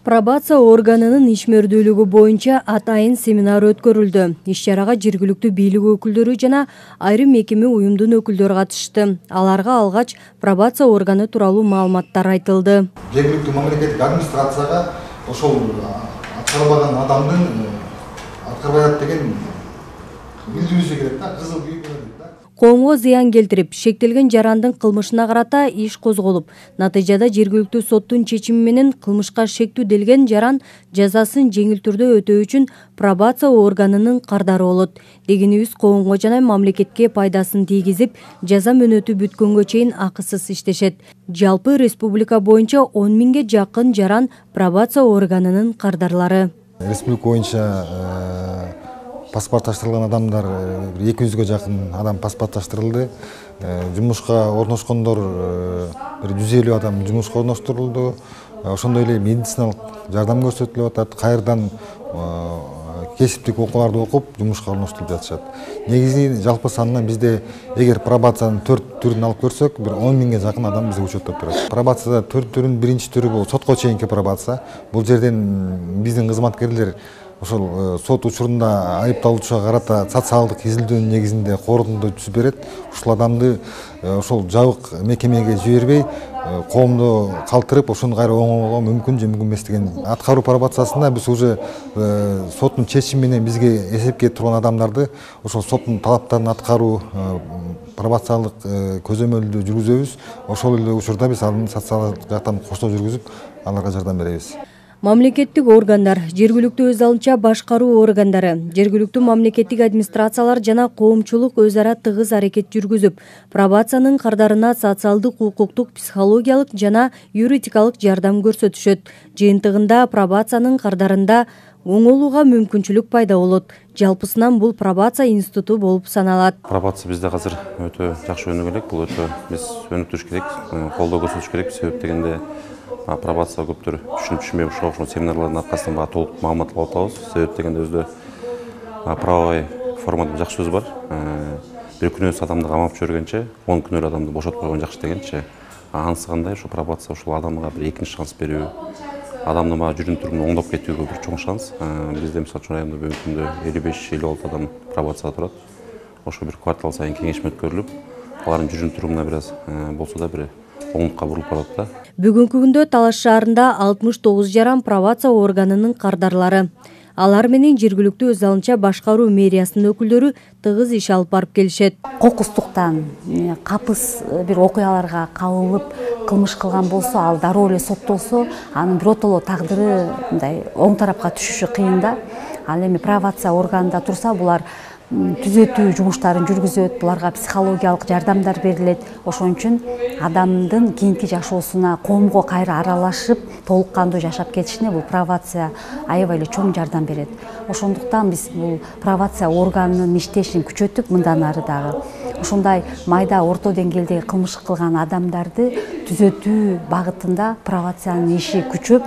Пробация органынын ишмердүүлүгү боюнча атайын семинар өткөрүлдү. Иш-чарага жергиликтүү бийлик өкүлдөрү жана айрым мекеме уюмдун өкүлдөрү катышты. Аларга алгач пробация органы тууралуу маалыматтар айтылды. Жергиликтүү мамлекеттик администрацияга ошол аткарбаган адамдын аткарбай атат деген билдирүүсү керек да, кызыл күйүп берет да. Коомго зыян келтирип, шектелген жарандын кылмышына карата иш козголуп, натыйжада жергиликтүү соттун чечими менен кылмышка шектүү делген жаран жазасын жеңил түрдө өтөө үчүн пробация органынын кардары болот. Дегенибиз коомго жана мамлекетке пайдасын тийгизип, жаза мөөнөтү бүткөнгө чейин акысыз иштешет. Жалпы республика боюнча 10 миңге жакын жаран пробация органынын кардарлары. Республика боюнча паспортташтырылган адамдар 200ге жакын адам паспортташтырылды. Жумушка орношкондор 150 адам жумушка орноштурулду. Ошондой эле медициналык жардам көрсөтүлүп атат. Кайрадан кесиптик окууларды окуп, жумушка орноштуруп жатышат. Негизи жалпы санынан бизде эгер пробациянын 4 түрүн алып көрсөк, 10 миңге жакын адам бизде учетто турат. Пробацияда 4 түрүн биринчи түрү бул сотко чейинки пробация. Бул жерден биздин кызматкерлер ошол сот учурунда айыпталуучуга карата социалдык изилдөөнүн негизинде корутунду түзүп берет. Ушул адамды ошол жабык мекемеге жибербей, коомду калтырып, ошону кайра оңоого мүмкүн же мүмкүн эмес деген аткаруу пробациясында биз уже соттун чечими менен бизге эсепке турган адамдарды ошол соттун талаптарын аткаруу пробациялык көзөмөлдү жүргүзөбүз. Ошол эле учурда биз анын социалдык жактан коштоо жүргүзүп, аларга жардам беребиз. Мамлекеттик органдар, жергиликтүү өз алынча башкаруу органдары, жергиликтүү мамлекеттик администрациялар жана коомчулук өз ара тыгыз аракет жүргүзүп, пробациянын кардарына социалдык, укуктук, психологиялык жана юридикалык жардам көрсөтүшөт. Жыйынтыгында пробациянын кардарында оңолууга мүмкүнчүлүк пайда болот. Жалпысынан бул пробация институту болуп саналат. Пробация бизде азыр өтө жакшы өнүгө элек. Бул өтө биз өнүктүрүш керек, колдоо көрсөтүш керек. Себеп дегенде пробация көптөр түшүнүп ошол семинарлардын аркасынан баа толук маалымат алып атабыз. Себеп дегенде өзү правовой формада жакшы сөз бар. Бир күнөөсүз адамды камап жүргөнчө 10 күнөр адамды бошотуп койгон жакшы дегенчи. Анысы кандай? Ошо пробация ушул адамга бир экинчи шанс берүү, адамдын жүрүм турумун оңдоп кетүүгө бир чоң шанс. Бизде мисалы үчүн райондо бүгүнкү күндө 55-56 адам пробацияда турат. Ошо бир квартал сайын кеңешме өткөрүлүп, алардын жүрүм турумуна бир аз болсо да бир оңдукка бурулуп барат да. Бүгүнкү күндө Талаш шаарында 69 жаран пробация органынын кардарлары. Алар менен жергиликтүү өз алынча башкаруу мэриясынын өкүлдөрү тыгыз иш алып барып келишет. Кокустуктан, капыс бир окуяларга кабылып, кылмыш кылган болсо, ал дароо эле соттолсо, анын биротоло тагдыры мындай оң тарапка түшүшү кыйын да. Ал эми пробация органында турса, булар түзөтүү жумуштарын жүргүзөт, буларга психологиялык жардамдар берилет. Ошон үчүн адамдын кийинки жашоосуна коомго кайра аралашып, толук кандуу жашап кетишине бул пробация аябай эле чоң жардам берет. Ошондуктан биз бул пробация органынын иштешин күчөтүп, мындан ары дагы ошондой майда орто деңгээлдеги кылмыш кылган адамдарды түзөтүү багытында пробациянын иши күчөп,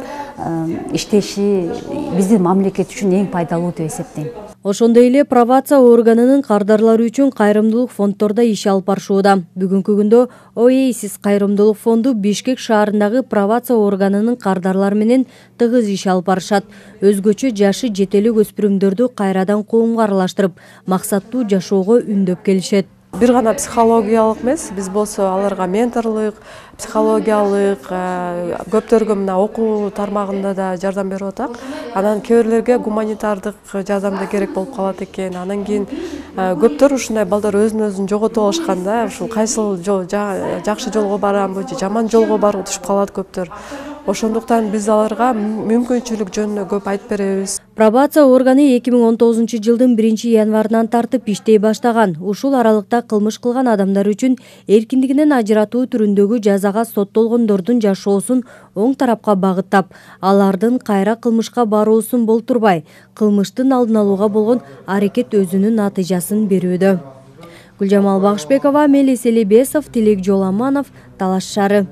иштеши биздин мамлекет үчүн эң пайдалуу деп эсептейм. Ошондой эле пробация органынын кардарлары үчүн кайрымдуулук фонддордо иш алып барышууда. Бүгүнкү күндө Oasis кайрымдуулук фонду Бишкек шаарындагы пробация органынын кардарлары менен тыгыз иш алып барышат. Өзгөчө жашы жетелик өспүрүмдөрдү кайрадан коомго аралаштырып, максаттуу жашоого үндөп келишет. Бир гана психологиялык эмес, биз болсо аларга менторлук, психологиялык, көптөргө мына окуу тармагында да жардам берип атак. Анан кээ бирлерге гуманитардык жардам да керек болуп калат экен. Анан кийин көптөр ушундай балдар өзүн жоготуп алышкан да, ушул кайсыл жакшы жолго барамбы же жаман жолго барып түшүп калат көптөр. Ошондуктан биз аларга мүмкүнчүлүк жөнүндө көп айтып беребиз. Пробация органы 2019 жылдын 1-январынан тартып иштей баштаган. Ушул аралыкта кылмыш кылган адамдар үчүн эркиндигинен ажыратуу түрүндөгү жазага соттолгондордун жашоосун оң тарапка багыттап, алардын кайра кылмышка баруусун болтурбай, кылмыштын алдын алууга болгон аракет өзүнүн натыйжасын берүүдө. Гүлжамал Багышбекова, Мелис Элибесов, Тилек Жоламанов, Талаш шаары.